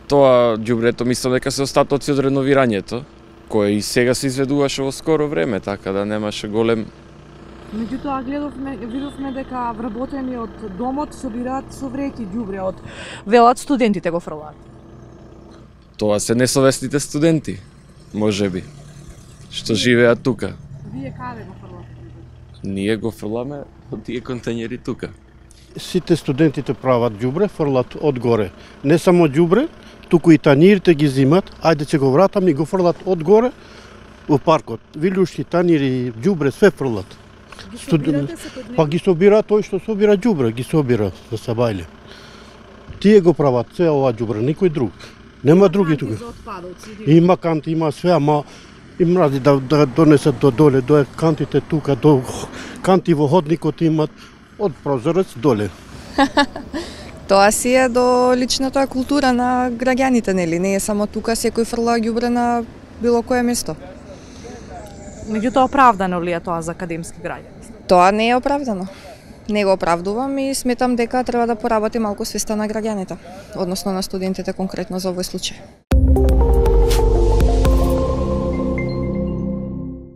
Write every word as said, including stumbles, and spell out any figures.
Тоа ѓубрето мислам дека се остатоци од реновирањето, кое и сега се изведуваше во скоро време, така да немаше голем. Меѓутоа гледавме, видовме дека вработени од домот собираат со вреќи ѓубре од велат студентите го фрлаат. Тоа се несовесните студенти, можеби, што живеат тука. Вие каде го фрлате? Ние го фрламе од тие контењери тука. Сите студентите прават ѓубре, фрлат одгоре. Не само ѓубре, туку и танирите ги зимат, ајде ќе го вратам и го фрлат одгоре во паркот. Вилушки, танири, ѓубре, све фрлат. Ги собирате се код Па ги собира тој што собира ѓубре, ги собира за Сабајле. Тие го прават се ова ѓубре, никој друг. Нема други тука. Има канти, има све, ама им мрази да, да донесат до доле, до кантите тука, до канти во ходникот имат од прозорец доле. Тоа си е до личната култура на граѓаните, нели? Не е само тука, секој фрла ѓубре на било кое место. Меѓутоа оправдано ли е тоа за академски граѓани? Тоа не е оправдано. Не го оправдувам и сметам дека треба да поработи малку свеста на граѓаните, односно на студентите конкретно за овој случај.